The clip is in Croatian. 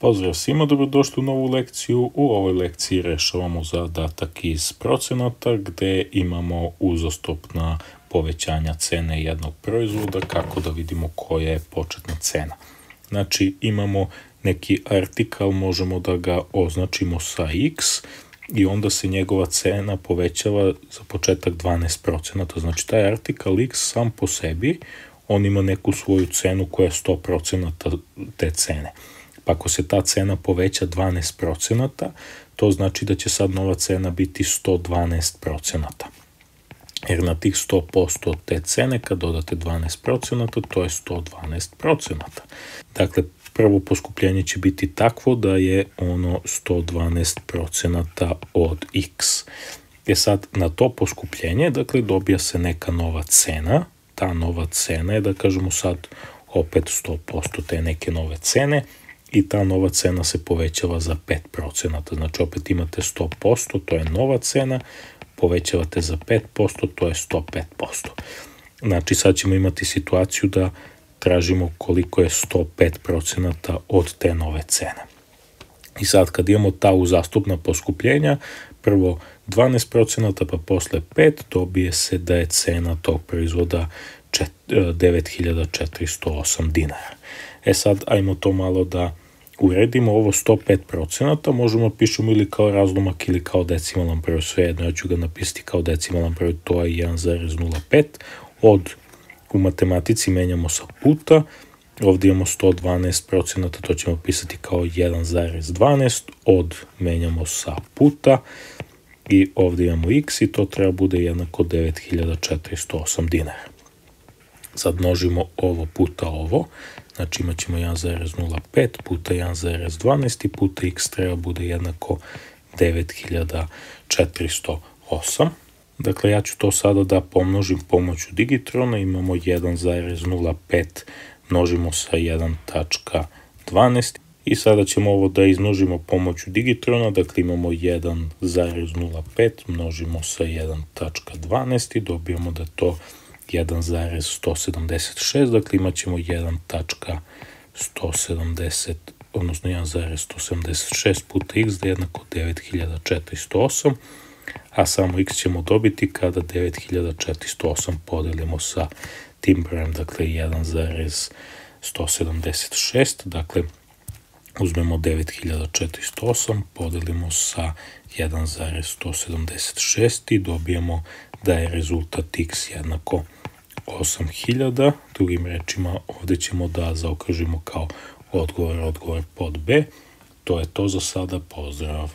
Pozdrav svima, dobrodošli u novu lekciju. U ovoj lekciji rešavamo zadatak iz procenata gde imamo uzastopna povećanja cene jednog proizvoda, kako da vidimo koja je početna cena. Znači imamo neki artikal, možemo da ga označimo sa x i onda se njegova cena povećava za početak 12%. Znači taj artikal x sam po sebi, on ima neku svoju cenu koja je 100% te cene. Pa ako se ta cena poveća 12%, to znači da će sad nova cena biti 112%. Jer na tih 100% te cene, kad dodate 12%, to je 112%. Dakle, prvo poskupljenje će biti takvo da je ono 112% od x. Sad, na to poskupljenje, dakle, dobija se neka nova cena. Ta nova cena je, da kažemo sad, opet 100% te neke nove cene. I ta nova cena se povećava za 5%. Znači opet imate 100%, to je nova cena, povećavate za 5%, to je 105%. Znači sad ćemo imati situaciju da tražimo koliko je 105% od te nove cene. I sad kad imamo ta uzastopna poskupljenja, prvo 12%, pa posle 5%, dobije se da je cena tog proizvoda 9408 dinara. Sad, ajmo to malo da uredimo. Ovo 105% možemo pišemo ili kao razlomak ili kao decimalan broj, svejedno, ja ću ga napisati kao decimalan broj, to je 1,05. U matematici menjamo sa puta, ovdje imamo 112%, to ćemo pisati kao 1,12, menjamo sa puta i ovdje imamo x i to treba bude jednako 9408 dinara. Sad množimo ovo puta ovo, znači imat ćemo 1,05 puta 1,12 i puta x treba bude jednako 9408. Dakle, ja ću to sada da pomnožim pomoću digitrona, imamo 1,05 množimo sa 1,12 i sada ćemo ovo da izmnožimo pomoću digitrona, dakle imamo 1,05 množimo sa 1,12 i dobijamo da to 1,176, dakle imat ćemo 1,170, odnosno 1,176 puta x da je jednako 9408, a samo x ćemo dobiti kada 9408 podelimo sa tim brojem, dakle 1,176, dakle uzmemo 9408, podelimo sa 1,176 i dobijemo da je rezultat x jednako 8000. Drugim rečima, ovdje ćemo da zaokružimo kao odgovor pod B. To je to za sada, pozdrav!